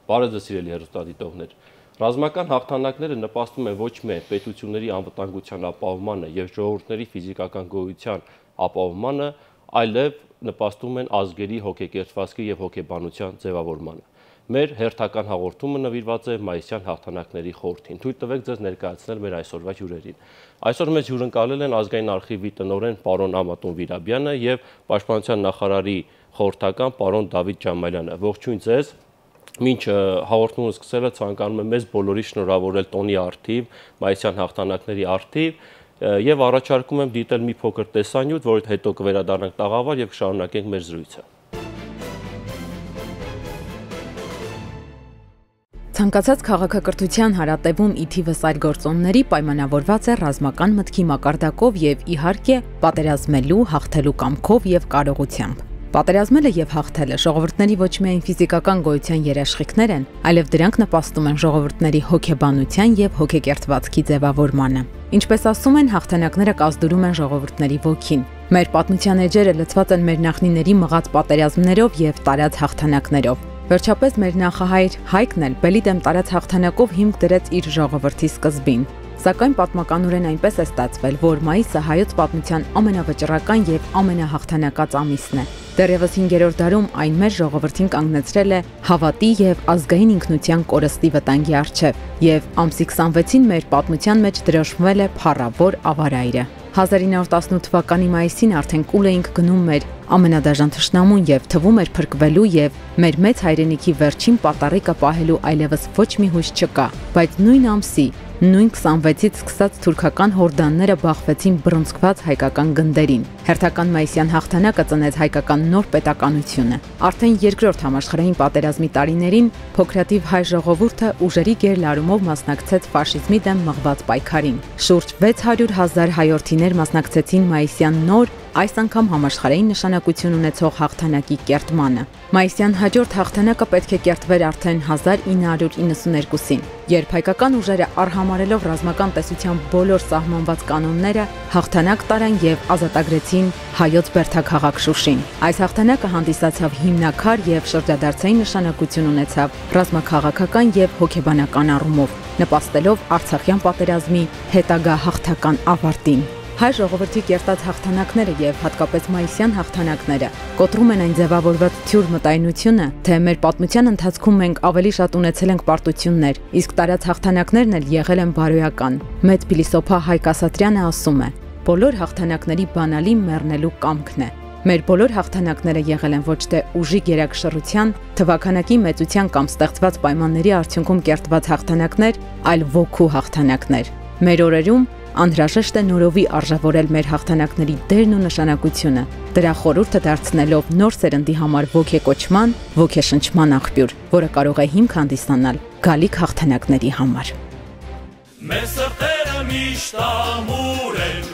Բարև ձեզ սիրելի հեռուստադիտողներ։ Ռազմական հաղթանակները նպաստում են ոչ միայն պետությունների անվտանգության ապահովմանը եւ ժողովուրդների ֆիզիկական գոյության ապահովմանը, այլև նպաստում են ազգերի հոգեկերտվածքի եւ հոգեբանության ձևավորմանը։ Մեր հերթական հաղորդումը նվիրված է մայիսյան հաղթանակների խորհրդին։ Թույլ տվեք ձեզ ներկայացնել մեր այսօրվա հյուրերին։ Այսօր մեզ հյուրընկալել են ազգային արխիվի տնօրեն պարոն Ամատուն Վիրաբյանը եւ պաշտպանության նախարարի խորհրդական պարոն Դավիթ Ջամալյանը։ Ողջույն ձեզ։ Մինչ հաղորդումը սկսելը ցանկանում եմ մեզ բոլորի շնորհավորել տոնի առթիվ, մայիսյան հաղթանակների առթիվ եւ առաջարկում եմ դիտել մի փոքր տեսանյութ, որից հետո կվերադառնանք տաղավար եւ կշարունակենք մեր զրույցը։ Ցանկացած քաղաքակրթության հարատևում ի թիվս այլ գործոնների պայմանավորված է ռազմական մտքի մակարդակով եւ իհարկե պատերազմելու, հաղթելու կամքով եւ կարողությամբ։ Պատերազմելը եւ հաղթելը ժողովուրդների ոչ միայն ֆիզիկական գոյության երաշխիքներ են, այլև դրանք նպաստում են ժողովուրդների հոգեբանության եւ հոգեկերտվածքի ձևավորմանը։ Ինչպես ասում են, հաղթանակները կազդուրում են ժողովուրդների ոգին։ Մեր պատմության էջերը լցված են մեր նախնիների մղած պատերազմներով եւ տարած հաղթանակներով։ Վերջապես մեր նախահայր Հայկն էլ բելի դեմ տարած հաղթանակով հիմք դրեց իր ժողովրդի սկզբին։ Սակայն պատմականորեն այնպես է ստացվել, որ մայիսը հայոց պատմության ամենավճռական եւ ամենահաղթանակած ամիսն է։ Դեռևս 5-րդ դարում այն մեր ժողովրդին կանգնեցրել է հավատի եւ ազգային ինքնության կորստի վտանգի առջեւ, եւ ամսի 26-ին մեր պատմության մեջ դրոշմվել է փառավոր ավարայրը։ 1918 թվականի մայիսին արդեն կուլ էինք գնում մեր ամենադաժան թշնամուն եւ թվում էր փրկվելու եւ մեր մեծ հայրենիքի վերջին պատառիկը պահելու այլևս ոչ մի հույս չկա, բայց նույն ամսի նույն 26-ից սկսած թուրքական հորդանները բախվեցին բռնցքված հայկական գնդերին։ Հերթական մայիսյան հաղթանակը ծնեց հայկական նոր պետականությունը։ Արդեն երկրորդ համաշխարհային պատերազմի տարիներին փոքրաթիվ հայ ժողովուրդը ուժերի գերլարումով մասնակցեց ֆաշիզմի դեմ մղված պայքարին։ Շուրջ 600,000 հայորդիներ մասնակցեցին մայիսյան նոր, այս անգամ համաշխարհային նշանակություն ունեցող հաղթանակի կերտմանը։ Մայիսյան հաջորդ հաղթանակը պետք է կերտվեր արդեն 1992-ին, երբ հայկական ուժերը արհամարելով ռազմական տեսության բոլոր սահմանված կանոնները հաղթանակ տարան եւ ազատագրեցին հայոց բերդաքաղաք Շուշին։ Այս հաղթանակը հանդիսացավ հիմնաքար եւ շրջադարձային նշանակություն ունեցավ ռազմաքաղաքական եւ հոգեբանական առումով, նպաստելով Արցախյան պատերազմի հետագա հաղթական ավարտին։ Հայ ժողովրդի կերտած հաղթանակները եւ հատկապես մայիսյան հաղթանակները կոտրում են այն ձևավորված թյուր մտայնությունը, թե մեր պատմության ընթացքում մենք ավելի շատ ունեցել ենք պարտություններ, իսկ տարած հաղթանակներն էլ եղել են բարոյական։ Մեծ փիլիսոփա Հայկ Ասատրյանը ասում է. «Բոլոր հաղթանակների բանալի մեռնելու կամքն է»։ Մեր բոլոր հաղթանակները եղել են ոչ թե ուժի գերակշռության, թվաքանակի մեծության կամ ստեղծված պայմանների արդյունքում կերտված հաղթանակներ, այլ ոգու հաղթանակներ։ Մեր օրերում անհրաժեշտ է նորովի արժևորել մեր հաղթանակների դերն ու նշանակությունը, դրա խորհուրդը դարձնելով նոր սերնդի համար ոգեկոչման, ոգեշնչման աղբյուր, որը կարող է հիմք հանդիսանալ գալիք հաղթանակների համար։ Մեր սրտերը միշտ ամուր են,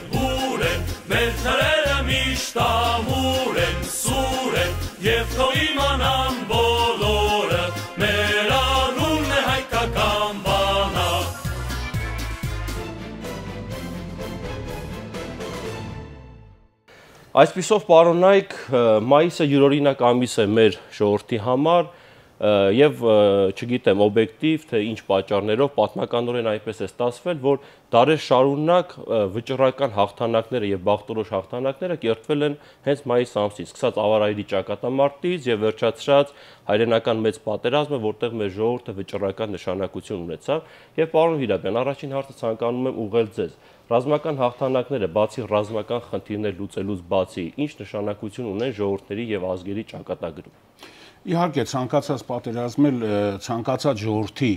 մեր թրերը միշտ ամուր են, սուր են, եւ թող իմանան բոլորը, մեր անունն է հայկական բանակ։ Այսպիսով պարոնայք, մայիսը յուրօրինակ ամիս է մեր ժողովրդի համար եւ չգիտեմ օբյեկտիվ թե ինչ պատճառներով պատմականորեն այնպես է ստացվել, որ դարեր շարունակ վճռական հաղթանակները եւ բախտորոշ հաղթանակները կերտվել են հենց մայիս ամսից, սկսած ավարայրի ճակատամարտից եւ վերջացրած հայրենական մեծ պատերազմը, որտեղ մեր ժողովուրդը վճռական նշանակություն ունեցավ։ Եվ պարոն Վիրաբյան, առաջին հարցը ցանկանում եմ ուղղել ձեզ։ Ռազմական հաղթանակները բացի ռազմական խնդիրներ լուծելուց բացի ինչ նշանակություն ունեն ժողովուրդների եւ ազգերի ճակատագրում։ Իհարկե ցանկացած պատերազմել ցանկացած ժողովրդի,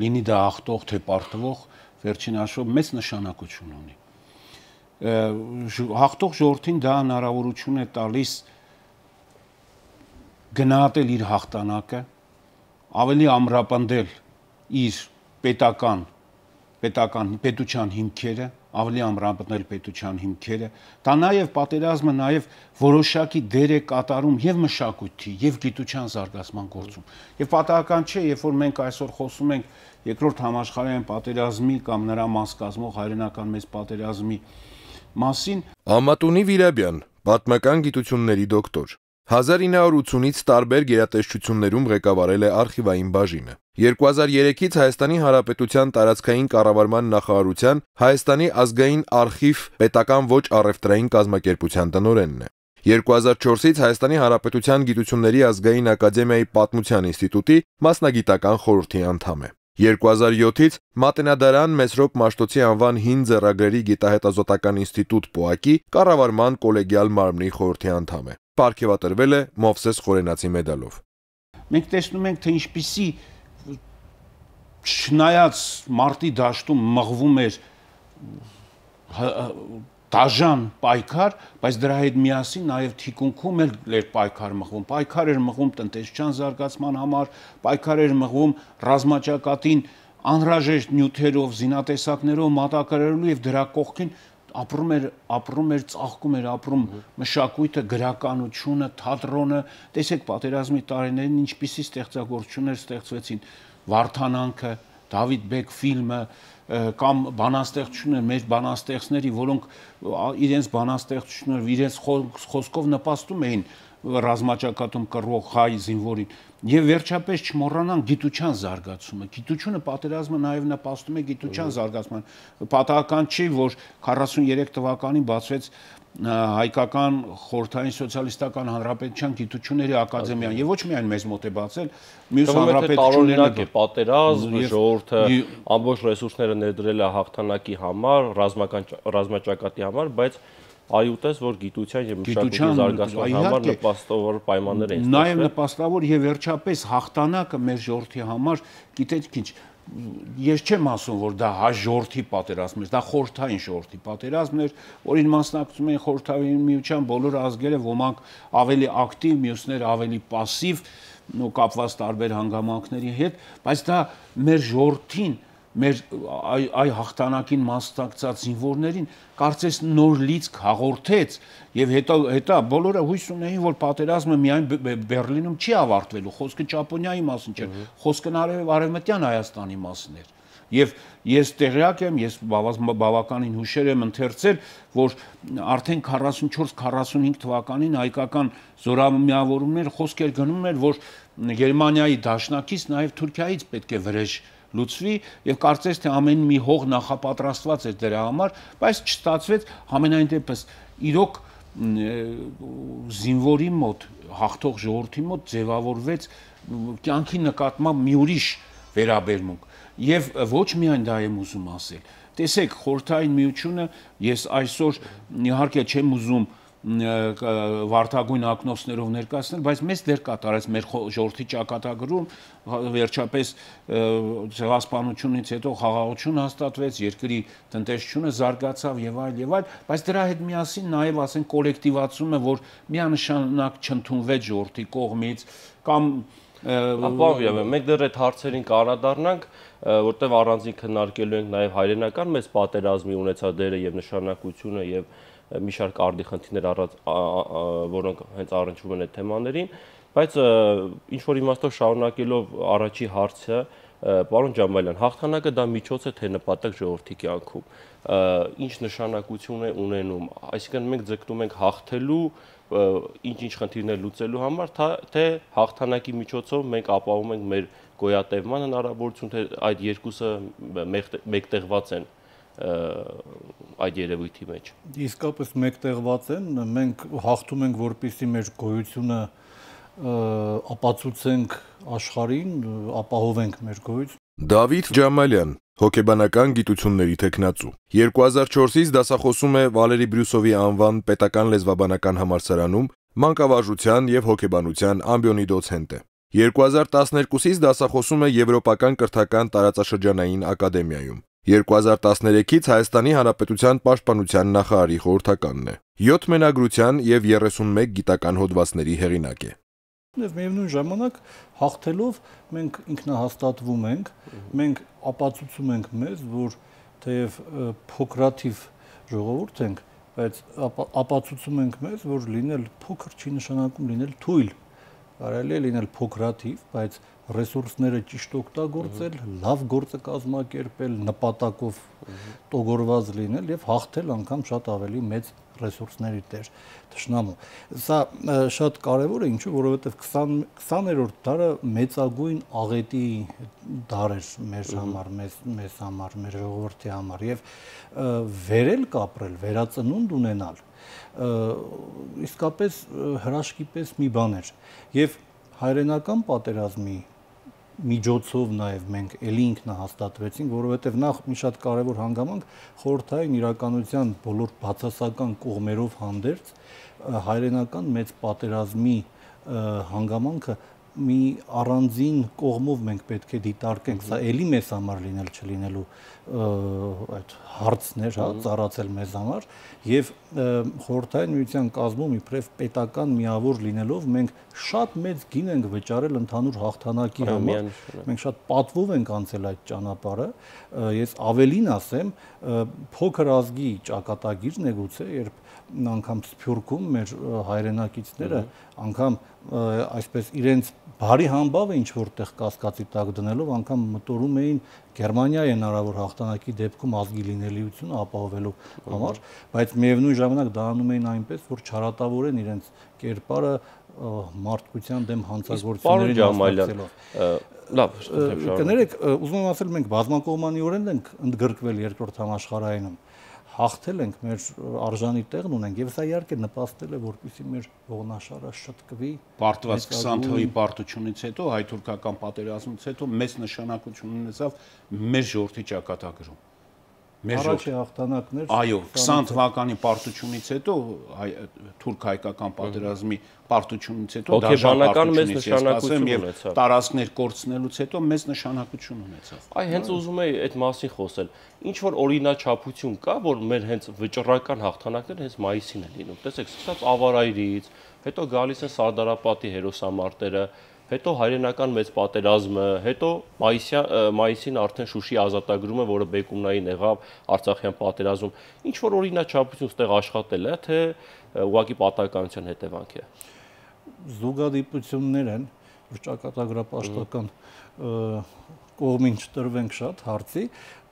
լինի դա ախտող թե պարտվող, վերջին հաշվով մեծ նշանակություն ունի։ Հաղթող ժողովրդին դա հնարավորություն է տալիս գնահատել իր հաղթանակը, ավելի ամրապնդել իր պետության հիմքերը, ավելի ամրապնդել պետության հիմքերը, դա նաև պատերազմը նաև որոշակի դեր է կատարում եւ մշակույթի եւ գիտության զարգացման գործում։ Եվ պատահական չէ, երբ որ մենք այսօր խոսում ենք երկրորդ համաշխարհային պատերազմի կամ նրա մաս կազմող հայրենական մեծ պատերազմի մասին, Ամատունի Վիրաբյան, պատմական գիտությունների դոկտոր, 1980-ից տարբեր գերատեսչություններում ղեկավարել է արխիվային բաժինը։ 2003-ից Հայաստանի Հանրապետության տարածքային կառավարման նախարարության Հայաստանի ազգային արխիվ պետական ոչ առևտրային կազմակերպության տնօրենն է։ 2004-ից Հայաստանի Հանրապետության Գիտությունների ազգային ակադեմիայի պատմության ինստիտուտի մասնագիտական խորհրդի անդամ է։ 2007-ից Մատենադարան Մեսրոպ Մաշտոցի անվան հին ձեռագրերի գիտահետազոտական ինստիտուտ ՊՕԱԿ-ի կառավարման կոլեգիալ մարմնի խորհրդի անդամ է։ Պարգևատրվել է Մովսես Խորենացի մեդալով։ Մենք տեսնում ենք, թե ինչպիսի չնայած մարտի դաշտում մղվում էր դաժան պայքար, բայց դրա հետ միասին նաև թիկունքում էր պայքար մղվում։ Պայքար էր մղվում տնտեսության զարգացման համար, պայքար էր մղվում ռազմաճակատին անհրաժեշտ նյութերով, զինատեսակներով մատակարարելու եւ դրա կողքին ապրում էր, ծաղկում էր ապրում մշակույթը, գրականությունը, թատրոնը։ Տեսեք, պատերազմի տարիներին ինչպիսի ստեղծագործություններ ստեղծվեցին, Վարդանանքը, Դավիթ Բեկ ֆիլմը կամ բանաստեղծություններ մեր բանաստեղծների, որոնք իրենց բանաստեղծություններով, իրենց խոսքով նպաստում էին ռազմաճակատում կռվող հայ զինվորին։ Եվ վերջապես չմոռանանք գիտության զարգացումը։ Գիտությունը պատերազմը նաև նպաստում է գիտության զարգացման։ Պատահական չի, որ 43 թվականին բացվեց Հայկական խորհրդային սոցիալիստական հանրապետության գիտությունների ակադեմիան, եւ ոչ միայն մեզ մոտ է բացել, մյուս հանրապետություններն է պատերազմ, ժողովուրդը ամբողջ ռեսուրսները ներդրել է հաղթանակի համար, ռազմաճակատի համար, բայց այուտես, որ գիտության եւ մշակույթի զարգացման համար նպաստավոր պայմաններ են ստեղծվել։ Նաեւ նպաստավոր եւ վերջապես հաղթանակը մեր ժողովրդի համար, գիտեք ինչ, ես չեմ ասում, որ դա հայ ժողովրդի պատերազմն էր, դա խորհրդային ժողովրդի պատերազմն էր, որին մասնակցում էին խորհրդային միության բոլոր ազգերը, ոմանք ավելի ակտիվ, մյուսները ավելի пассив, ու կապված տարբեր հանգամանքների հետ, բայց դա մեր ժողովրդին, մեր այ հաղթանակին մասնակցած զինվորներին կարծես նոր լիցք հաղորդեց եւ հետո բոլորը հույս ունեին, որ պատերազմը միայն Բերլինում չի ավարտվելու, խոսքը Ճապոնիայի մասին չէ, խոսքը արևմտյան Հայաստանի մասին էր։ Եվ ես տեղյակ եմ, ես բավականին հուշեր եմ ընթերցել, որ արդեն 44-45 թվականին հայկական զորամիավորումներ խոսքեր գնում էր, որ Գերմանիայի դաշնակից նաև Թուրքիայից պետք է վրեժ լուծվի եւ կարծես թե ամեն մի հող նախապատրաստված էր դրա համար, բայց չստացվեց, համենայն դեպս իրոք զինվորի մոտ, հաղթող ժողովրդի մոտ ձևավորվեց կյանքի նկատմամբ մի ուրիշ վերաբերմունք եւ ոչ միայն դա եմ ուզում ասել։ Տեսեք, խորհրդային միությունը ես այսօր իհարկե չեմ ուզում վարդագույն ակնոցներով ներկայացնել, բայց մեծ դեր կատարեց մեր ժողովրդի ճակատագրում, վերջապես ցեղասպանությունից հետո խաղաղություն հաստատվեց, երկրի տնտեսությունը զարգացավ եւ այլ, բայց դրա հետ միասին նաեւ ասենք կոլեկտիվացումը, որ միանշանակ չընդունվեց ժողովրդի կողմից կամ ապահով մենք դեռ այդ հարցերին կանադառնանք, որտեղ առանձին քննարկելու ենք նաեւ հայրենական մեծ պատերազմի ունեցած դերը եւ նշանակությունը եւ մի շարք արդի խնդիրներ որոնք հենց առնչվում են այդ թեմաներին, բայց ինչ որ իմաստով շարունակելով առաջի հարցը, պարոն Ջամալյան, հաղթանակը դա միջոց է թե նպատակ ժողովրդի կյանքում, ինչ նշանակություն է ունենում, այսինքն մենք ձգտում ենք հաղթելու, ինչ խնդիրներ լուծելու համար, թե հաղթանակի միջոցով մենք ապահովում ենք մեր գոյատևման հնարավորություն, թե այդ երկուսը մեկտեղված են այդ երևույթի մեջ։ Իսկապես մեկտեղված են, մենք հաղթում ենք, որպեսզի մեր գոյությունը ապացուցենք աշխարհին, ապահովենք մեր գոյությունը։ Դավիթ Ջամալյան, հոգեբանական գիտությունների թեկնածու, 2004-ից դասախոսում է Վալերի Բրյուսովի անվան պետական լեզվաբանական համալսարանում, մանկավարժության եւ հոգեբանության ամբիոնի դոցենտ է։ 2012-ից դասախոսում է Եվրոպական կրթական տարածաշրջանային ակադեմիայում։ 2013-ից Հայաստանի Հանրապետության Պաշտպանության նախարարի խորհրդականն է։ 7 մենագրության եւ 31 գիտական հոդվածների հեղինակ է։ Եվ միևնույն ժամանակ հաղթելով մենք ինքնահաստատվում ենք, մենք ապացուցում ենք մեզ, որ թեև փոքրաթիվ ժողովուրդ ենք, բայց ապացուցում ենք մեզ, որ լինել փոքր չի նշանակում լինել թույլ։ կարելի է լինել փոքրաթիվ, բայց ռեսուրսները ճիշտ օգտագործել, լավ գործը կազմակերպել, նպատակով տոգորված լինել եւ հաղթել անգամ շատ ավելի մեծ ռեսուրսների տեր թշնամու։ Սա շատ կարևոր է, ինչու, որովհետեւ 20-րդ դարը մեծագույն աղետի դար էր մեր համար, մեզ համար, մեր ժողովրդի համար եւ վերել կապրել, վերածնունդ ունենալ իսկապես հրաշքի պես մի բան էր եւ հայրենական պատերազմի միջոցով նաև մենք ելի ինքնահաստատվեցինք, որովհետև նախ մի շատ կարևոր հանգամանք խորհրդային իրականության բոլոր բացասական կողմերով հանդերձ հայրենական մեծ պատերազմի հանգամանքը մի առանձին կողմով մենք պետք է դիտարկենք, սա ելի մեզ համար լինել չլինելու այդ հարցներ, հա, ծառացել մեզ համար եւ խորհրդային միության կազմում իբրև պետական միավոր լինելով մենք շատ մեծ գին ենք վճարել ընդհանուր հաղթանակի համար, մենք շատ պատվով ենք անցել այդ ճանապարհը, ես ավելին ասեմ, փոքր ազգի ճակատագիրն է գուցե, երբ անգամ Սփյուռքում մեր հայրենակիցները անգամ այսպես իրենց բարի համբավը ինչ որտեղ կասկածի տակ դնելով անգամ մտորում էին Գերմանիայի հնարավոր հաղթանակի դեպքում ազգի լինելիությունը ապահովելու համար, բայց միևնույն ժամանակ դա անում էին այնպես, որ չարատավորեն իրենց կերպարը մարդկության դեմ հանցագործություններին մասնակցելով։ Լավ, կներեք, ուզում եմ ասել, մենք բազմակողմանիորեն ենք ընդգրկվել երկրորդ համաշխարհայինում, հաղթել ենք, մեր արժանի տեղն ունենք եւ սա իհարկե նպաստել է, որպեսզի մեր ողնաշարը շտկվի։ Պարտված 20 թվականի պարտությունից հետո, հայ-թուրքական պատերազմից հետո մեծ նշանակություն ունեցավ մեր ժողովրդի ճակատագրում։ Առաջի հաղթանակներ։ Այո, 20 թվականի պարտությունից հետո թուրք-հայկական պատերազմի պարտությունից հետո հոգեբանական մեծ նշանակություն ունեցավ։ Տարածքներ կորցնելուց հետո մեծ նշանակություն ունեցավ։ Այ հենց ուզում եի այդ մասին խոսել։ Ինչ որ օրինաչափություն կա, որ մեր հենց վճռական հաղթանակները հենց մայիսին են լինում։ Տեսեք, սկսած Ավարայրից, հետո գալիս են Սարդարապատի հերոսամարտերը, հետո հայրենական մեծ պատերազմը, հետո մայիսին արդեն Շուշի ազատագրումը, որը բեկումնային եղավ Արցախյան պատերազմում, ինչ որ օրինաչափություն ստեղ աշխատել է, թե ուղղակի պատահականության հետևանք է։ Զուգադիպություններ են, որ ճակատագրապաշտական կողմին չտրվենք շատ հարցի,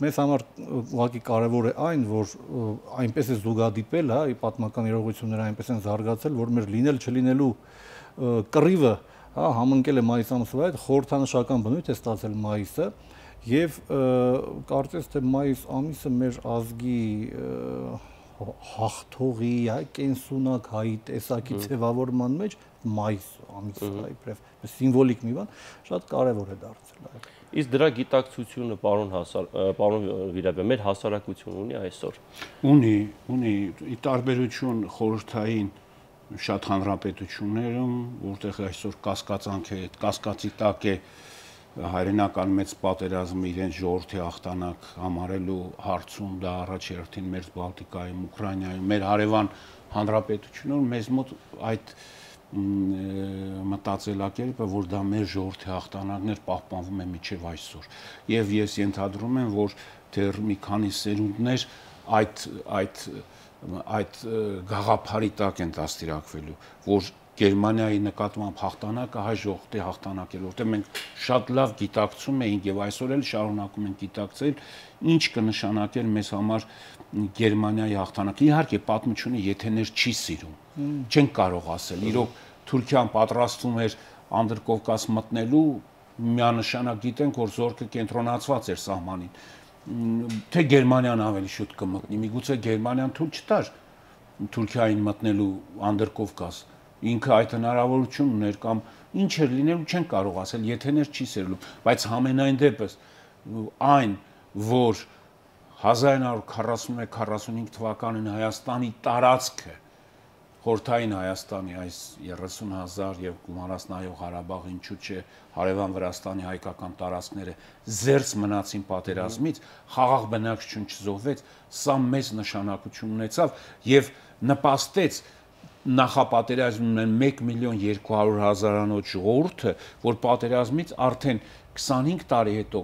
մեզ համար ուղղակի կարևոր է այն, որ այնպես է զուգադիպել, հա, պատմական իրողությունները այնպես են զարգացել, որ մեր լինել չլինելու կռիվը համընկել է մայիս ամսվա հետ, խորհրդանշական բնույթ է ստացել մայիսը եւ կարծես թե մայիս ամիսը մեր ազգի հաղթողի, կենսունակ հայի տեսակի ձևավորման մեջ մայիս ամիսը իբրև սիմվոլիկ մի բան շատ կարեւոր է դարձել։ Իսկ դրա գիտակցությունը պարոն Վիրաբյան, մեր հասարակություն ունի այսօր։ Ունի ի տարբերություն խորհրդային շատ հանրապետություններում, որտեղ այսօր կասկածանք է, կասկածի տակ է հայրենական մեծ պատերազմը իրենց ժողովրդի հաղթանակ համարելու հարցում, դա առաջերտին մեր Բալտիկայում, Ուկրաինայում, մեր հարևան հանրապետություններում մեզ մոտ այդ մտածելակերպը, որ դա մեր ժողովրդի հաղթանակներ պահպանվում է մինչև այսօր։ Եվ ես ենթադրում եմ, որ դեռ մի քանի սերունդներ այդ գաղափարի տակ են դաստիարակվելու, որ Գերմանիայի նկատմամբ հաղթանակը հայ ժողովրդի հաղթանակ է, որտեղ մենք շատ լավ գիտակցում էինք եւ այսօր էլ շարունակում ենք գիտակցել, ինչ կնշանակեր մեզ համար Գերմանիայի հաղթանակը։ Իհարկե, պատմությունը եթեներ չի սիրում։ Չենք կարող ասել, իրոք Թուրքիան պատրաստվում էր Անդրկովկաս մտնելու, միանշանակ գիտենք, որ զորքը կենտրոնացված էր սահմանին։ Թե Գերմանիան ավելի շուտ կմտնի, միգուցե Գերմանիան թույլ չտար Թուրքիային մտնելու Անդրկովկաս։ Ինքը այդ հնարավորություն ուներ կամ ինչ էր լինելու չեն կարող ասել, եթեներ չի սերելու, բայց համենայն դեպս այն, որ 1941-45 թվականին Հայաստանի տարածքը խորհրդային Հայաստանի այս 30,000 եւ գումարած նայող Ղարաբաղ, ինչու՞ չէ հարևան Վրաստանի հայկական տարածքները զերծ մնացին պատերազմից, խաղաղ բնակչություն չզոհվեց, սա մեծ նշանակություն ունեցավ եւ նպաստեց նախապատերազմին 1.200.000-անոց ժողովուրդը, որ պատերազմից արդեն 25 տարի հետո,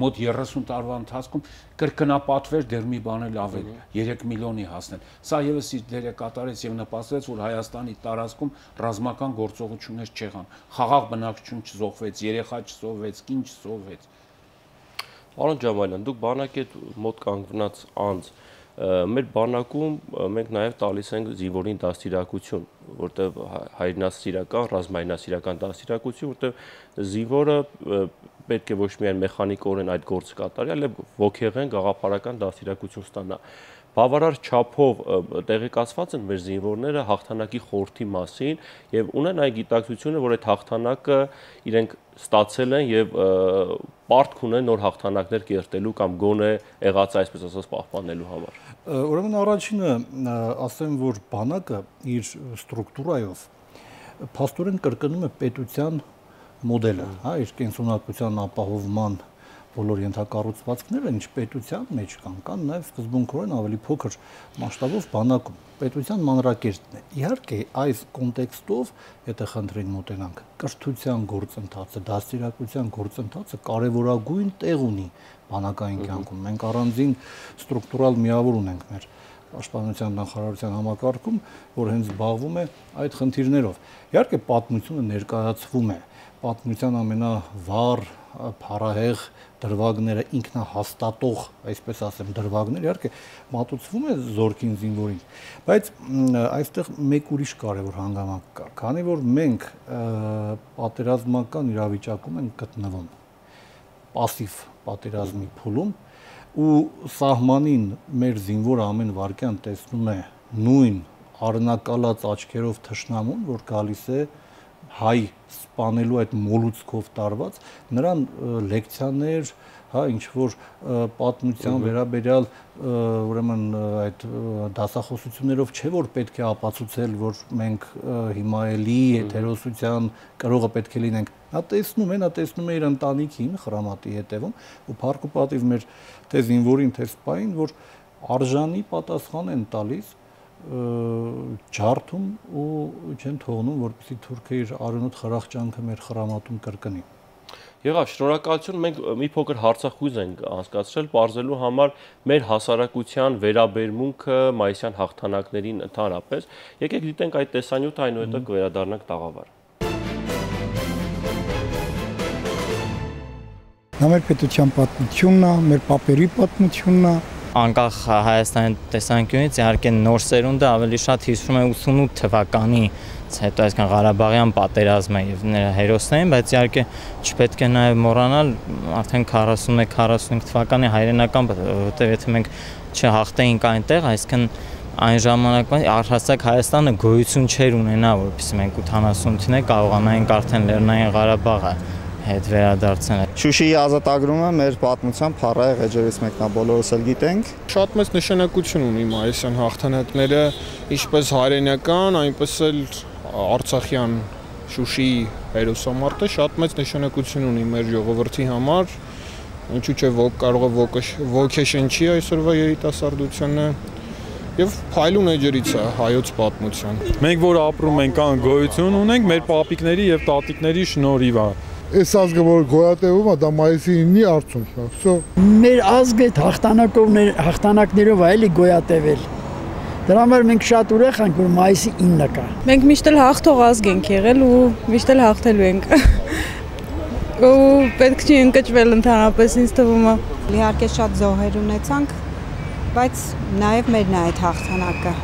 մոտ 30 տարվա ընթացքում կրկնապատվեր դեռ մի բան էլ ավել 3 միլիոնի հասնել։ Սա եւս իր դերը կատարեց եւ նպաստեց, որ Հայաստանի տարածքում ռազմական գործողություններ չեղան, խաղաղ բնակչություն չզոհվեց, երեխա չզոհվեց, կին չզոհվեց։ Պարոն Ջամալյան, դուք բանակետ մոտ կանգնած անձ, մեր բանակում մենք նաև տալիս ենք զինվորին դաստիարակություն, որտեղ հայրենասիրական, ռազմայնասիրական դաստիարակություն, որտեղ զինվորը պետք է ոչ միայն մեխանիկորեն այդ գործը կատարի, այլև ոգեղեն գաղափարական դաստիարակություն ստանա։ Բավարար չափով տեղեկացված են մեր զինվորները հաղթանակի խորհրդի մասին եւ ունեն այն գիտակցությունը, որ այդ հաղթանակը իրենք ստացել են եւ պարտք ունեն նոր հաղթանակներ կերտելու կամ գոնե եղած այսպես ասած պահպանելու համար։ Ուրեմն առաջինը ասեմ, որ բանակը իր ստրուկտուրայով փաստորեն կրկնում է պետության մոդելը, հա, իր կենսունակության ապահովման բոլոր ենթակառուցվածքները ինչ պետության մեջ կան նաև սկզբունքորեն ավելի փոքր մասշտաբով բանակում պետության մանրակերտն է։ Իհարկե, այս կոնտեքստով, եթե խնդրին մոտենանք, կրթության գործընթացը, դաստիարակության գործընթացը կարևորագույն տեղ ունի բանակային կյանքում։ Մենք առանձին ստրուկտուրալ միավոր ունենք մեր պաշտպանության նախարարության համակարգում, որ հենց զբաղվում է այդ խնդիրներով։ Իհարկե, պատմությունը ներկայացվում է, պատմության ամենավառ փառահեղ դրվագները ինքնահաստատող, այսպես ասեմ, դրվագներ, իհարկե մատուցվում է զորքին զինվորին, բայց այստեղ մեկ ուրիշ կարևոր հանգամանք կա, քանի որ մենք պատերազմական իրավիճակում ենք գտնվում, պասիվ պատերազմի փուլում, ու սահմանին մեր զինվորը ամեն վայրկյան տեսնում է նույն արնակալած աչքերով թշնամուն, որ գալիս է հայ սպանելու այդ մոլուցքով տարված, նրան լեկցիաներ, հա, ինչ որ պատմության վերաբերյալ ուրեմն այդ դասախոսություններով չէ որ պետք է ապացուցել, որ մենք հիմա էլի հերոսության կրողը պետք է լինենք։ Նա տեսնում է իր ընտանիքին խրամատի հետևում ու փառք ու պատիվ մեր թե զինվորին, թե սպային, որ արժանի պատասխան են տալիս ջարդում ու չեն թողնում, որպեսզի թուրքը իր արյունոտ խրախճանքը մեր խրամատում կրկնի։ Եղավ, շնորհակալություն, մենք մի փոքր հարցախույզ ենք անցկացրել, բարձելու համար մեր հասարակության վերաբերմունքը մայիսյան հաղթանակներին ընդհանրապես։ Եկեք դիտենք այդ տեսանյութը, այնուհետև կվերադառնանք տաղավար։ Նա մեր պետության պատմությունն է, մեր պապերի պատմությունն է։ Անկախ Հայաստանի տեսանկյունից իհարկե նոր սերունդը ավելի շատ հիշում է 88 թվականի հետո այսքան Ղարաբաղյան պատերազմը եւ նրա հերոսներին, բայց իհարկե չպետք է նաեւ մոռանալ արդեն 41-45 թվականի հայրենական, որտեղ եթե մենք չհաղթեինք այնտեղ, այսինքն այն ժամանակվա առհասարակ Հայաստանը գոյություն չէր ունենա, որովհետեւ մենք 88-ին կարողանայինք արդեն Լեռնային Ղարաբաղը հետ վերադարձնել։ Շուշիի ազատագրումը մեր պատմության փառահեղ էջերից մեկն է, բոլորս էլ գիտենք։ Շատ մեծ նշանակություն ունի մայիսյան հաղթանակները, ինչպես հայրենական, այնպես էլ արցախյան Շուշիի հերոսամարտը շատ մեծ նշանակություն ունի մեր ժողովրդի համար, ինչու՞ չէ կարող է ոգեշնչի այսօրվա երիտասարդությունը եւ փայլուն էջերից է հայոց պատմության։ Մենք որ ապրում ենք կան գոյություն ունենք մեր պապիկների եւ տատիկների շնորհիվ է։ Այս ազգը որ գոյատևում է, դա մայիսի 9-ի արդյունքն է։ Մեր ազգը հաղթանակներով է էլի գոյատևել։ Դրա համար մենք շատ ուրախ ենք, որ մայիսի 9-ը կա։ Մենք միշտ էլ հաղթող ազգ ենք եղել ու միշտ էլ հաղթելու ենք։ Ու պետք չի ընկճվել ընդհանրապես ինձ թվում է։ Իհարկե շատ զոհեր ունեցանք, բայց նաև մերն է այդ հաղթանակը։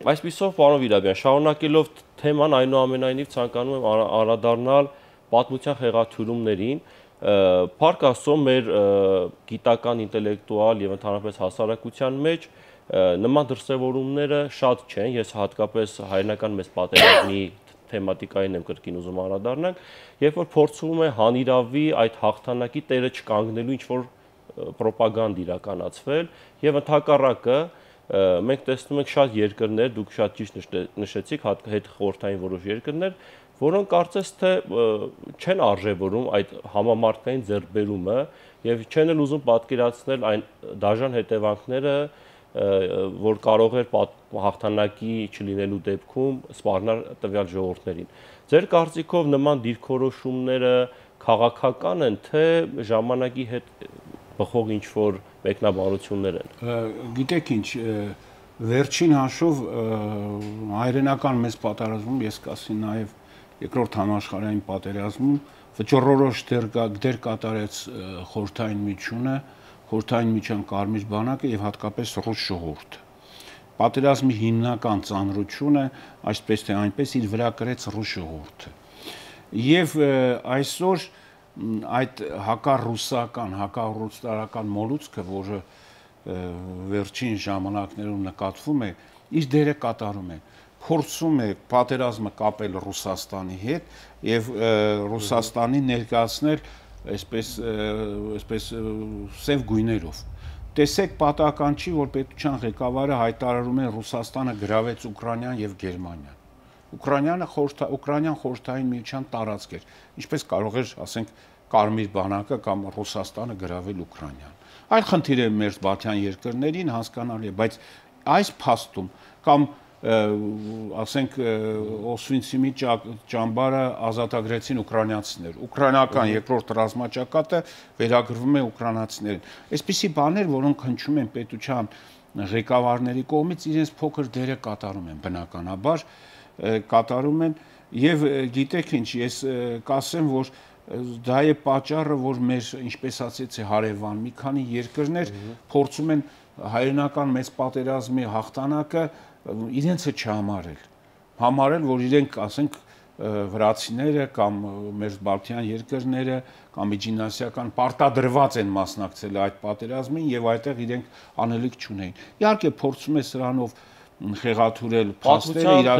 Այսպիսով, պարոն Վիրաբյան, շարունակելով թեման, այնուամենայնիվ ցանկանում եմ անդրադառնալ պատմության խեղաթյուրումներին, փառք Աստծո մեր գիտական, ինտելեկտուալ եւ ընդհանրապես հասարակության մեջ նման դրսևորումները շատ չեն, ես հատկապես հայրենական մեծ պատերազմի թեմատիկային եմ կրկին ուզում անդրադառնալ, երբ որ փորձվում է հանիրավի այդ հաղթանակի տերը չկանգնելու ինչ-որ ռոպագանդ իրականացվել եւ ընդհակառակը մենք տեսնում ենք շատ երկրներ, դուք շատ ճիշտ նշեցիք, հետ խորհրդային որոշ երկրներ, որոնք կարծես թե չեն արժևորում այդ համամարտկային ձեռքբերումը եւ չեն էլ ուզում պատկերացնել այն դաժան հետևանքները, որ կարող էր հաղթանակի չլինելու դեպքում սպառնալ տվյալ ժողովուրդներին։ Ձեր կարծիքով նման դիրքորոշումները քաղաքական են, թե ժամանակի հետ բխող ինչ-որ մեկնաբանություններ են։ Գիտեք ինչ, վերջին հաշվով հայրենական մեծ պատերազմում, ես կասի նաև երկրորդ համաշխարհային պատերազմում վճռորոշ դեր կատարեց խորհրդային միջությունը, խորհրդային միջան կարմիր բանակը եւ հատկապես ռուս ժողովուրդը։ Պատերազմի հիմնական ծանրությունը, այսպես թե այնպես, իր վրա կրեց ռուս ժողովուրդը։ Եվ այսօր այդ հակառուսական, հակառուսատարական մոլուցքը, որը վերջին ժամանակներում նկատվում է, իր դերը կատարում է, փորձում է պատերազմը կապել Ռուսաստանի հետ եւ Ռուսաստանի ներկայացնել այսպես սև գույներով։ Տեսեք, պատահական չի, որ պետության ղեկավարը հայտարարում է Ռուսաստանը գրավեց Ուկրաինան եւ Գերմանիան։ Ուկրաինան խորհրդային միության տարածք էր, ինչպես կարող էր, ասենք, Կարմիր բանակը կամ Ռուսաստանը գրավել Ուկրաինան։ Այլ խնդիր է մեր Բալթյան երկրներին հասկանալի է, բայց այս փաստում կամ ասենք Օսվինցիմի ճամբարը ազատագրեցին ուկրաինացիներ, ուկրաինական երկրորդ ռազմաճակատը վերագրվում է ուկրաինացիներին։ Այսպիսի բաներ, որոնք հնչում են պետության ղեկավարների կողմից, իրենց փոքր դերը կատարում են, բնականաբար կատարում են, եւ գիտեք ինչ, ես կասեմ, որ դա է պատճառը, որ մեր, ինչպես ասեցի, հարևան մի քանի երկրներ փորձում են հայրենական մեծ պատերազմի հաղթանակը իրենցը չհամարել, որ իրենք, ասենք, վրացիները կամ մեր Բալթյան երկրները կամ միջինասիական պարտադրված են մասնակցել այդ պատերազմին եւ այդտեղ իրենք անելիք չունեին։ Իհարկե փորձում է սրանով խեղաթուրել փաստերը,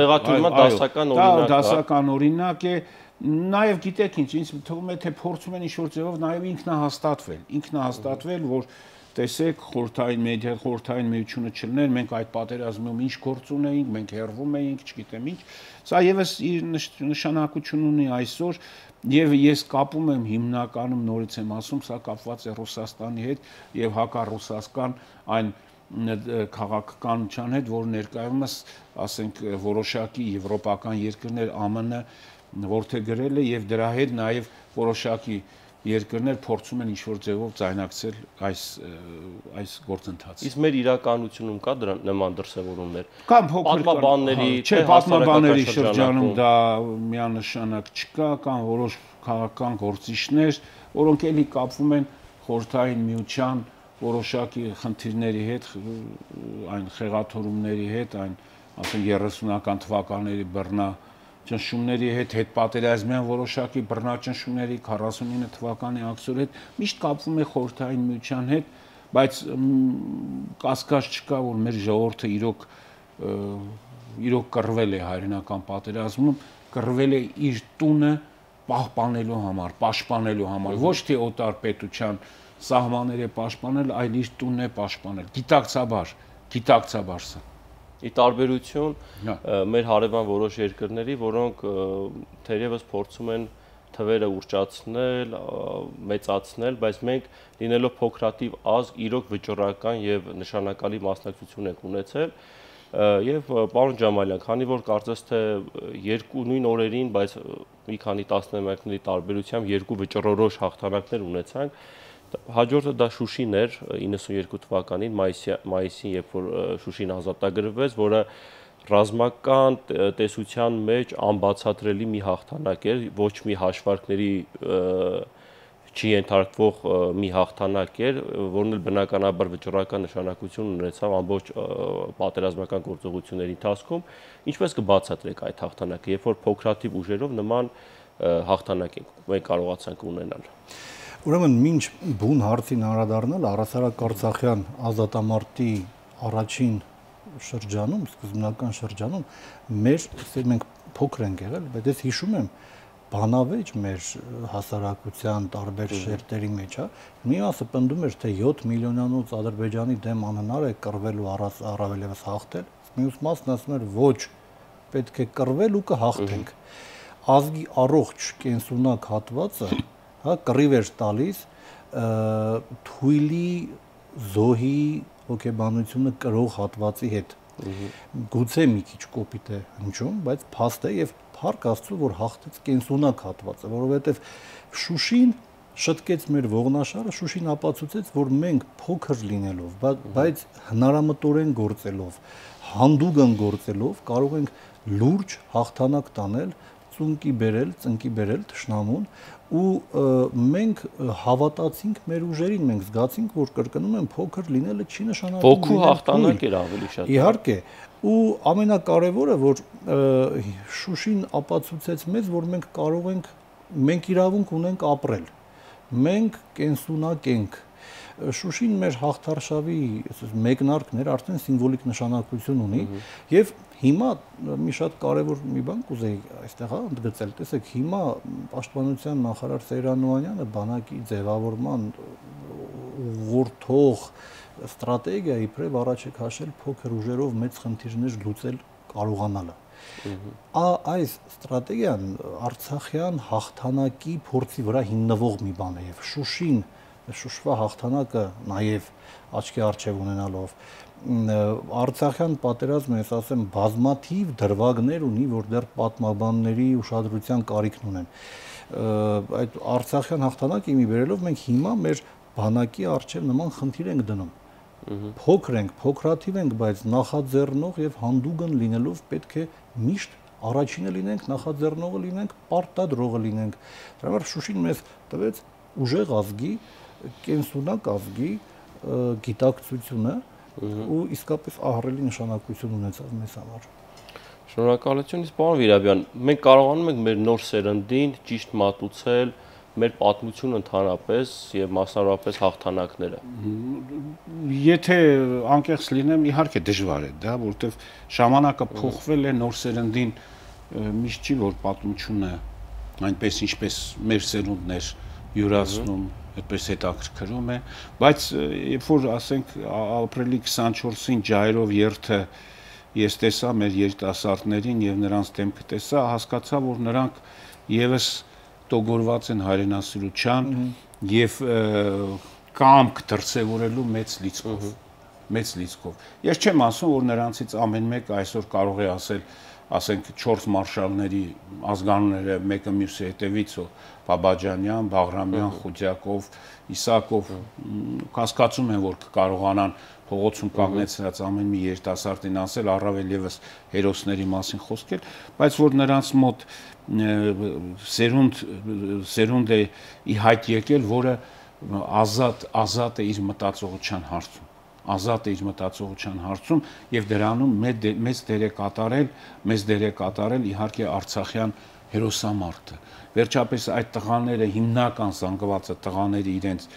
դասական օրինակ է, նաեւ գիտեք ինչ, ինձ թվում է թե փորձում են ինչ-որ ձևով նաեւ ինքնահաստատվել, որ տեսեք, խորհրդային միությունը չլներ, մենք այդ պատերազմում ինչ գործ ունեինք, մենք հեռվում էինք, չգիտեմ ինչ։ Սա եւս իր նշանակություն ունի այսօր, եւ ես կապում եմ հիմնականում, նորից եմ ասում, սա կապված է Ռուսաստանի հետ եւ հակառուսական այն քաղաքականության հետ, որ ներկայումս, ասենք, որոշակի եվրոպական երկրներ ԱՄՆ-ը որդեգրել է եւ դրա հետ նաեւ որոշակի երկրներ փորձում են ինչ-որ ձևով ձայնակցել այս գործընթացը։ Իսկ մեր իրականությունում կա դրան նման դրսևորումներ։ Կամ փոքր պատմաբանների շրջանում դա միանշանակ չկա, կամ որոշ քաղաքական գործիչներ, որոնք էլի կապվում են խորհրդային միության որոշակի խնդիրների հետ, այն խեղաթորումների հետ, այն ասենք 30-ական թվականների բռնաճնշումների հետ, հետպատերազմյան որոշակի բռնաճնշումների 49 թվականի ակցիոների հետ, միշտ կապվում է խորհրդային միության հետ, բայց կասկած չկա, որ մեր ժողովուրդը իրոք կռվել է հայրենական պատերազմում, կռվել է իր տունը պահպանելու համար, պաշտպանելու համար, ոչ թե օտար պետության սահմանները պաշտպանել, այլ իր տունն է պաշտպանել, գիտակցաբար սա։ Ի տարբերություն մեր հարևան որոշ երկրների, որոնք թերևս փորձում են թվերը ուռճացնել, մեծացնել, բայց մենք լինելով փոքրաթիվ ազգ, իրոք վճռական եւ նշանակալի մասնակցություն ենք ունեցել։ Եվ պարոն Ջամալյան, քանի որ կարծես թե երկու նույն օրերին, բայց մի քանի տասնամյակների տարբերությամբ երկու վճռորոշ հաղթանակներ ունեցանք, հաջորդը դա Շուշին էր 92 թվականին մայիսին, երբ որ Շուշին ազատագրվեց, որը ռազմական տեսության մեջ անբացատրելի մի հաղթանակ էր, ոչ մի հաշվարկների չի ենթարկվող մի հաղթանակ էր, որն էլ բնականաբար վճռական նշանակություն ունեցավ ամբողջ պատերազմական գործողությունների ընթացքում, ինչպես կբացատրեք այդ հաղթանակը, երբ որ փոքրաթիվ ուժերով նման հաղթանակ մենք կարողացանք ունենալ։ Ուրեմն մինչ բուն հարցին անդրադառնալ առասարակ Արցախյան ազատամարտի առաջին շրջանում, սկզբնական շրջանում մենք փոքր ենք եղել, բայց ես հիշում եմ բանավեճ մեր հասարակության տարբեր շերտերի մեջ, մի մասը պնդում էր, թե 7 միլիոնանոց Ադրբեջանի դեմ անհնար է կռվել ու առավելևս հաղթել, մյուս մասն ասում էր ոչ, պետք է կռվել ու կհաղթենք։ ազգի առողջ կենսունակ հատվածը, հա, կռիվ էր տալիս թույլի զոհի հոգեբանությունը կրող հատվածի հետ։ Գուցե մի քիչ կոպիտ է հնչում, բայց փաստ է եւ փառք Աստծո, որ հաղթեց կենսունակ հատվածը, որովհետեւ Շուշին շտկեց մեր ողնաշարը, Շուշին ապացուցեց, որ մենք փոքր լինելով, բայց հնարամտորեն գործելով, հանդուգն գործելով կարող ենք լուրջ հաղթանակ տանել, ծունկի բերել թշնամուն ու մենք հավատացինք մեր ուժերին, մենք զգացինք, որ կրկնում եմ, փոքր լինելը չի նշանակում ոգու հաղթանակ էր ավելի շատ։ Իհարկե, ու ամենակարևորը, որ Շուշին ապացուցեց մեզ, որ մենք կարող ենք, մենք իրավունք ունենք ապրել, մենք կենսունակ ենք։ Շուշին մեր հաղթարշավի մեկնարկներ արդեն սիմվոլիկ նշանակություն ունի եւ հիմա մի շատ կարևոր մի բան կուզեի այստեղ ընդգծել, տեսեք, հիմա պաշտպանության նախարար Սեյրան Նոհանյանը բանակի ձևավորման ուղղորդող ստրատեգիա իբրև առաջ է քաշել փոքր ուժերով մեծ խնդիրներ լուծել կարողանալը։ Այս ստրատեգիան Արցախյան հաղթանակի փորձի վրա հիմնվող մի բան է եւ Շուշին Շուշվա հաղթանակը նաև աչքի առջև ունենալով Արցախյան պատերազմը, ես ասեմ, բազմաթիվ դրվագներ ունի, որ դեռ պատմաբանների ուշադրության կարիքն ունեն։ Այդ Արցախյան հաղթանակը իմի բերելով մենք հիմա մեր բանակի առջև նման խնդիր ենք դնում։ Փոքր ենք, փոքրաթիվ ենք, բայց նախաձեռնող եւ հանդուգն լինելով պետք է միշտ առաջինը լինենք, նախաձեռնողը լինենք, պարտադրողը լինենք։ Դրա համար Շուշին մեզ տվեց ուժեղ ազգի, կենսունակ ազգի գիտակցությունը ու իսկապես ահռելի նշանակություն ունեցավ մեզ համար։ Շնորհակալություն, պարոն Վիրաբյան, մենք կարողանում ենք մեր նոր սերնդին ճիշտ մատուցել մեր պատմությունը ընդհանրապես եւ մասնավորապես հաղթանակները։ Եթե անկեղծ լինեմ, իհարկե դժվար է դա, որովհետեւ ժամանակը փոխվել է, նոր սերնդին միշտ չի որ պատմությունը այնպես ինչպես մեր սերունդն էր յուրացնում, այդպես հետաքրքրում է, բայց երբ որ ասենք ապրիլի 24-ին ջայրով երթը ես տեսա մեր երիտասարդներին եւ նրանց դեմքը տեսա, հասկացա, որ նրանք եւս տոգորված են հայրենասիրության եւ կամք դրսեւորելու մեծ լիցքով։ Ես չեմ ասում, որ նրանցից ամեն մեկը այսօր կարող է ասել, ասենք 4 մարշալների ազգանունները մեկը մյուսի հետևից Բաբաջանյան, Բաղրամյան, Խուդյակով, Իսակով կասկածում են, որ կկարողանան փողոցում կանգնեցրած ամեն մի երիտասարդին ասել, առավել եւս հերոսների մասին խոսքել, բայց որ նրանց մոտ սերունդ է ի հայտ եկել, որը ազատ է իր մտածողության հարցում, ազատ է իր մտածողության հարցում եւ դրանում մեծ դեր է կատարել իհարկե Արցախյան հերոսամարտը։ Վերջապես այդ տղաները հիմնական զանգվածը տղաները իրենց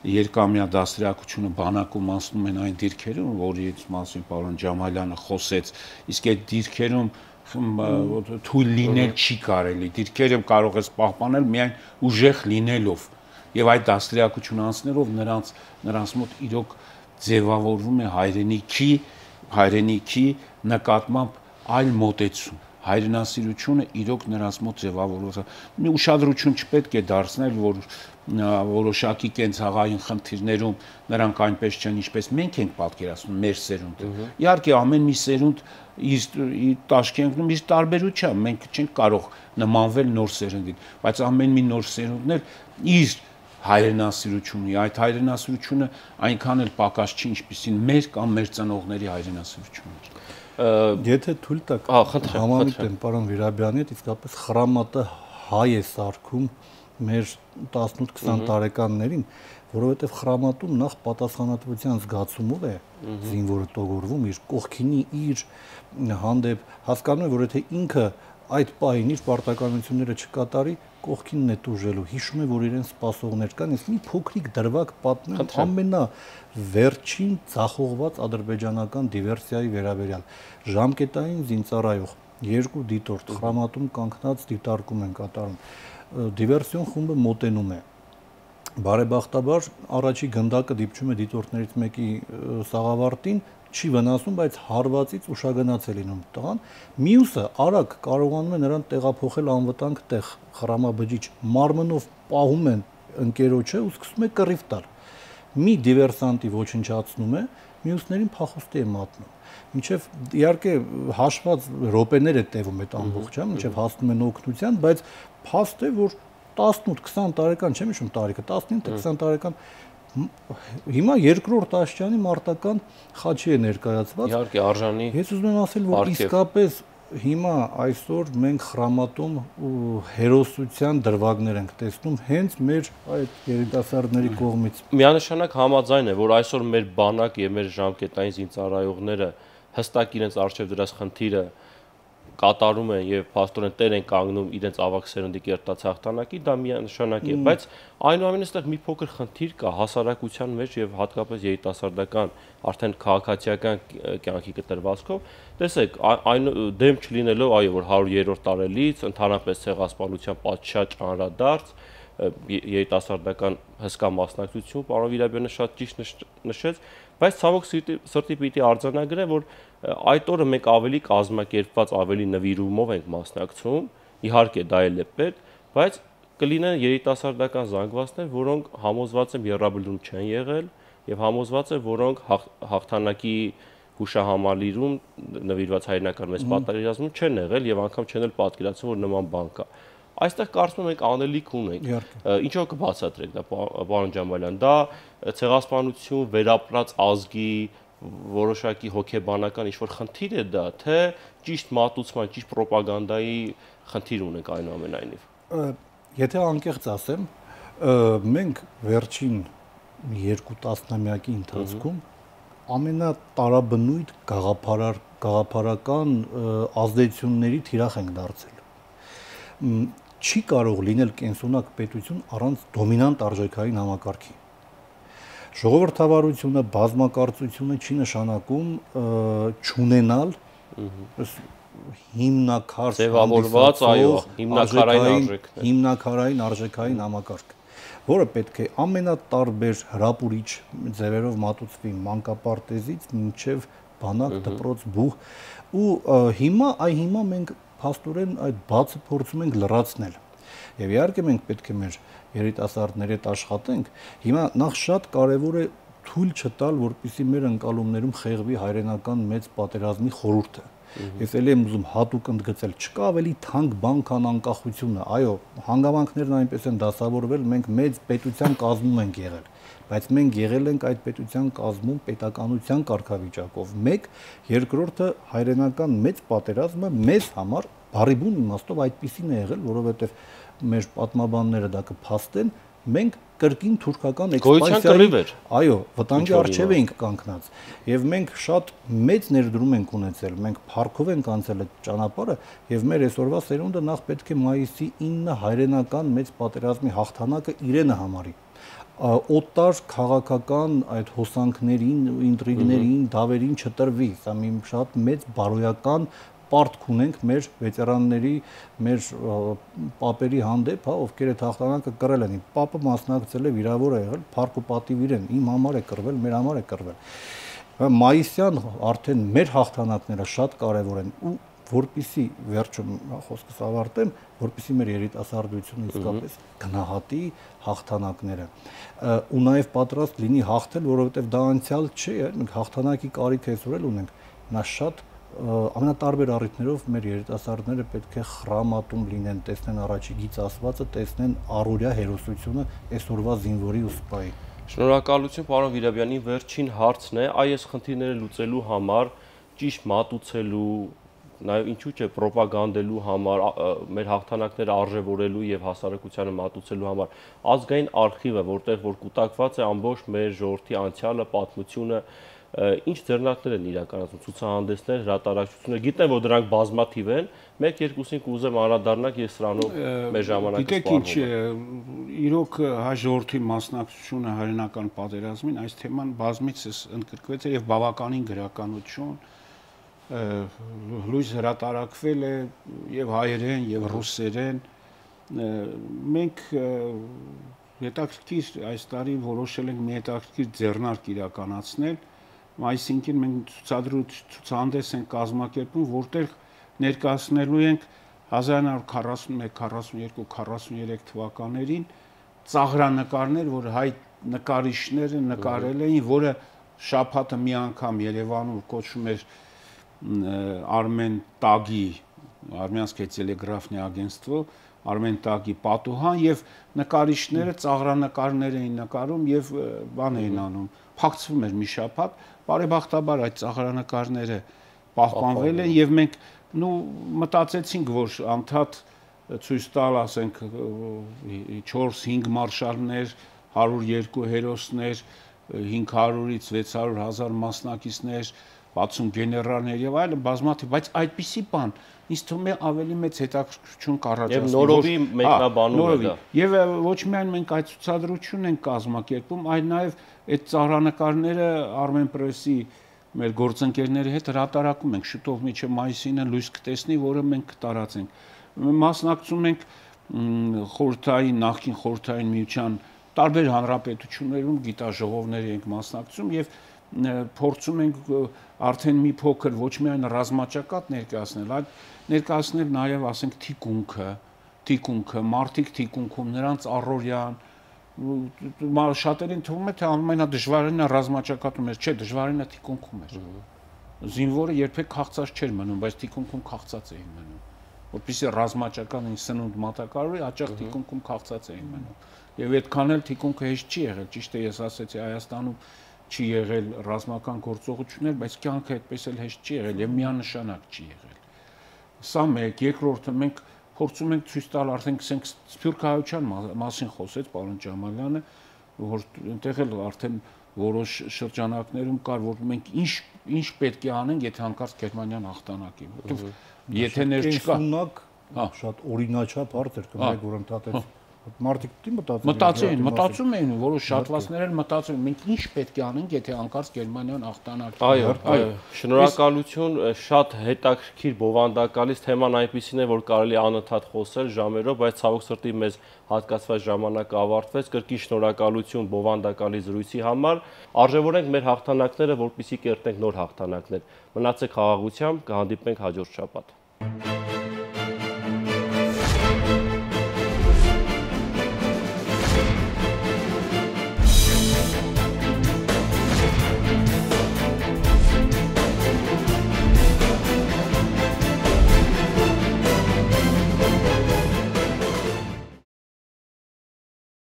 երկամյա դաստիարակությունը բանակում անցնում են այն դիրքերում, որից մասին պարոն Ջամալյանը խոսեց, իսկ այդ դիրքերում թույլ լինել չի կարելի, դիրքերը կարող ես պահպանել միայն ուժեղ լինելով եւ այդ դաստիարակությունը անցնելով նրանց մոտ իրոք ձևավորվում է հայրենիքի նկատմամբ այլ մոտեցում, հայրենասիրությունը իրոք նրանց մոտ ձևավորվում է։ Մի ուշադրություն չպետք է դարձնել, որ որոշակի կենցաղային խնդիրներում նրանք այնպես չեն, ինչպես մենք ենք պատկերացնում մեր սերունդը։ Իհարկե ամեն մի սերունդ իր տաշկենտում իր տարբերությամբ, մենք չենք կարող նմանվել նոր սերունդին, բայց ամեն մի նոր սերունդն էլ իր հայրենասիրությունը, այդ հայրենասիրությունը այնքան էլ պակաս չի, ինչպիսին մեր կամ մեր ծնողների հայրենասիրությունն էր։ Եթե թույլ տաք, համամիտ եմ պարոն Վիրաբյանի հետ, իսկապես խրամատը հայ է սարքում մեր 18-20 տարեկաններին, որովհետև խրամատում նախ պատասխանատվության զգացումով է զինվորը տոգորվում, իր կողքինի իր հանդեպ հասկանում է, որ եթե ինքը այդ պահին իր պարտականությունները չկատարի, կողքինն է տուժելու, հիշում է, որ իրեն սպասողներ կան, ես մի փոքրիկ դրվագ պատմեմ ամենավերջին ձախողված ադրբեջանական դիվերսիայի վերաբերյալ։ Ժամկետային զինծառայող 2 դիտորդ խրամատում կանգնած դիտարկում են կատարում։ Դիվերսիոն խումբը մոտենում է։ բարեբախտաբար առաջի գնդակը դիպչում է դիտորդներից մեկի սաղավարտին, չի վնասում, բայց հարվածից ուշագնաց է լինում տղան։ Մյուսը արագ կարողանում է նրան տեղափոխել անվտանգ տեղ, խրամաբջիջ, մարմնով պահում են ընկերոջը ու սկսում է կռիվ տալ։ Մի դիվերսանտի ոչնչացնում է, մյուսներին փախուստի է մատնում։ Մինչև իհարկե հաշված րոպեներ է տևում այդ ամբողջը, մինչև հասնում են օգնության, բայց փաստ է, որ 18-20 տարեկան, չեմ հիշում տարիքը, 19-20 տարեկան հիմա երկրորդ աշճանի մարտական խաչի է ներկայացված։ Իհարկե արժանի։ Ես ուզում եմ ասել, որ իսկապես հիմա այսօր մենք խրամատում ու հերոսության դրվագներ ենք տեսնում հենց մեր այդ երիտասարդների կողմից։ Միանշանակ համաձայն է, որ այսօր մեր բանակ եւ մեր ժամկետային զինծառայողները հստակ իրենց արժեվ դրած խնդիրը կատարում են եւ փաստորեն տեր են կանգնում իրենց ավակ սերնդի կերտած հաղթանակի, դա միանշանակ է, բայց այնուամենայնիվ այստեղ մի փոքր խնդիր կա հասարակության մեջ եւ հատկապես երիտասարդական արդեն քաղաքացիական կյանքի կտրվածքով։ Տեսեք, այն դեմ չլինելով, այո, որ 100-րդ տարելից ընդհանրապես ցեղասպանության պատշաճ անդրադարձ երիտասարդական հսկա մասնակցություն, պարոն Վիրաբյանը շատ ճիշտ նշեց, բայց ցավոք սրտի պիտի արձանագրեմ, որ այդ օրը մենք ավելի կազմակերպված, ավելի նվիրումով ենք մասնակցում, իհարկե դա էլ է պետք, բայց կլինեն երիտասարդական զանգվածներ, որոնք համոզված եմ եռաբլուրում չեն եղել եւ համոզված եմ, որոնք հաղթանակի հուշահամալիրում նվիրված հայրենական մեծ պատերազմում չեն եղել եւ անգամ չեն էլ պատկերացնում, որ նման բան կա։ Այստեղ կարծում եմ մենք անելիք ունենք։ Ինչով կբացատրենք դա, պարոն Ջամալյան, դա ցեղասպանություն, վերապրած ազգի որոշակի հոգեբանական ինչ-որ խնդիր է դա, թե ճիշտ մատուցման, ճիշտ պրոպագանդայի խնդիր ունենք այնուամենայնիվ։ Եթե անկեղծ ասեմ, մենք վերջին 2 տասնամյակի ընթացքում ամենատարաբնույթ գաղափարական ազդեցությունների թիրախ ենք դարձել։ Չի կարող լինել կենսունակ պետություն առանց դոմինանտ արժեքային համակարգի։ Ժողովրդավարությունը, բազմակարծությունը չի նշանակում չունենալ հիմնակար ձևավորված, այո, հիմնակարային արժեքային համակարգ, որը պետք է ամենատարբեր հրապուրիչ ձևերով մատուցվի մանկապարտեզից մինչև բանակ, դպրոց, բուհ, ու հիմա մենք փաստորեն այդ բացը փորձում ենք լրացնել։ Եվ իհարկե մենք պետք է մեր երիտասարդների հետ աշխատենք։ Հիմա նախ շատ կարևոր է թույլ չտալ, որպեսզի մեր ընկալումներում խեղվի հայրենական մեծ պատերազմի խորհուրդը։ Ես ելի եմ ուզում հատուկ ընդգծել, չկա ավելի թանկ բան, քան անկախությունը։ Այո, հանգամանքներն այնպես են դասավորվել, մենք մեծ պետության կազմում ենք եղել, բայց մենք եղել ենք այդ պետության կազմում պետականության կարգավիճակով։ Մեկ, երկրորդը հայրենական մեծ պատերազմը մեզ համար բարիբուն իմաստով այդպիսին է եղել, որովհետև մեր պատմաբանները դա կփաստեն, մենք կրկին թուրքական էքսպանսիայի, այո, վտանգի առջև էինք կանգնած, եւ մենք շատ մեծ ներդրում ենք ունեցել, մենք փառքով ենք անցել այդ ճանապարհը, եւ մեր այսօրվա սերունդը նախ պետք է մայիսի 9 հայրենական մեծ պատերազմի հաղթանակը իրենը համարի։ Օտար քաղաքական այդ հոսանքներին, ինտրիգներին, դավերին չտրվի, սա մի շատ մեծ բարոյական պարտք ունենք մեր վետերանների, մեր պապերի հանդեպ, ովքեր այդ հաղթանակը կռել են։ Պապը մասնակցել է, վիրավոր է եղել, փառք ու պատիվ իրեն, իմ համար է կռվել, մեր համար է կռվել։ Մայիսյան արդեն մեր հաղթանակները շատ կարևոր են ու որպեսզի վերջում խոսքս ավարտեմ, որպեսզի մեր երիտասարդությունը իսկապես գնահատի հաղթանակները ու նաև պատրաստ լինի հաղթել, որովհետև դա անցյալ չէ, մենք հաղթանակի կարիք այսօր էլ ունենք, նա շատ ամենատարբեր առիթներով մեր երիտասարդները պետք է խրամատում լինեն, տեսնեն առաջի գիծ ասվածը, տեսնեն առօրյա հերոսությունը այսօրվա զինվորի ու սպայի։ Շնորհակալություն, պարոն Վիրաբյանի, վերջին հարցն է, այս խնդիրները լուծելու համար, ճիշտ մատուցելու, նաև ինչու՞ չէ պրոպագանդելու համար, մեր հաղթանակները արժևորելու եւ հասարակությանը մատուցելու համար ազգային արխիվը, որտեղ որ կուտակված է ամբողջ մեր ժողովրդի անցյալը, պատմությունը, ինչ ձեռնարկներ են իրականացում, ցուցահանդեսներ, հրատարակություններ, գիտեմ, որ դրանք բազմաթիվ են, մեկ-երկուսին կուզեմ անդրադառնալ, ես սրանով մեր ժամանակը սպառնում եմ։ Գիտեք ինչ, իրոք հայ ժողովրդի մասնակցությունը հայրենական պատերազմին, այս թեման բազմիցս ընդգրկվեց եւ բավականին գրականություն լույս հրատարակվել է եւ հայերեն եւ ռուսերեն, մենք հետաքրքիր այս տարի որոշել ենք մի հետաքրքիր ձեռնարկ իրականացնել, այսինքն մենք ցուցահանդես ենք կազմակերպում, որտեղ ներկայացնելու ենք 1941, 42, 43 թվականներին ծաղրանկարներ, որ հայ նկարիչները նկարել էին, որը շաբաթը մի անգամ Երևանում կոչվում էր Armen Tag-ի, Armянское телеграфное агентство, Armen Tag-ի պատուհան եւ նկարիչները ծաղրանկարներ էին նկարում եւ բան էին անում, փակցվում էր մի շաբաթ, բարեբախտաբար այդ ծաղրանկարները պահպանվել են եւ մենք մտածեցինք, որ անդադ ցույց տալ, ասենք 4-5 մարշալներ, 102 հերոսներ, 500-ից 600 հազար մասնակիցներ, 60 գեներալներ եւ այլն բազմաթիվ, բայց այդպիսի բան ինձ թվում է ավելի մեծ հետաքրքրություն կառաջացնի։ Եվ նորովի մեկնաբանում է դա։ Եվ ոչ միայն մենք այդ ցուցադրությունն ենք կազմակերպում, այլ նաեւ այդ ծաղրանկարները Armenpress-ի մեր գործընկերների հետ հրատարակում ենք, շուտով մինչև մայիսին լույս կտեսնի, որը մենք կտարածենք։ Մասնակցում ենք խորհրդային, նախկին խորհրդային միության տարբեր հանրապետություններում գիտաժողովների ենք մասնակցում եւ փորձում ենք արդեն մի փոքր ոչ միայն ռազմաճակատ ներկայացնել, այլ ներկայացնել նաեւ, ասենք, թիկունքը, մարդիկ թիկունքում, նրանց առօրյան, շատերին թվում է թե ամենադժվարինը ռազմաճակատում էր, չէ, դժվարինը թիկունքում էր։ Զինվորը երբեք քաղցած չէր մնում, բայց թիկունքում քաղցած էին մնում, որպեսզի ռազմաճակատին սնունդ մատակարարի, հաճախ թիկունքում քաղցած էին մնում։ Եվ այդքան էլ թիկունքը հեշտ չի եղել, ճիշտ է, ես ասացի, Հայաստանում չի եղել ռազմական գործողություններ, բայց կյանքը այդպես էլ հեշտ չի եղել եւ միանշանակ չի եղել։ Սա մեկ, երկրորդը մենք փորձում ենք ցույց տալ, արդեն սփյուռքահայության մասին խոսեց պարոն Ջամալյանը, որ այնտեղ էլ արդեն որոշ շրջանակներում կար, որ մենք ինչ պետք է անենք, եթե հանկարծ Գերմանիան հաղթանակի, որովհետեւ եթե ներ չկա, շատ օրինաչափ հարց էր, կներեք, որ ընդհատեց մարդիկ դի մտածում էին, որոշ շատվածներ էլ մտածում են, մենք ինչ պետք է անենք, եթե հանկարծ Գերմանիան հաղթանակի։ Այո, շնորհակալություն, շատ հետաքրքիր բովանդակալից թեման այնպիսին է, որ կարելի է անընդհատ խոսել ժամերով, բայց ցավոք սրտի մեզ հատկացված ժամանակը ավարտվեց։ Կրկին շնորհակալություն բովանդակալի զրույցի համար։ Արժևորենք մեր հաղթանակները, որպեսզի կերտենք նոր հաղթանակներ։ Մնացեք խաղաղությամբ, կհանդիպենք հաջորդ շաբաթ։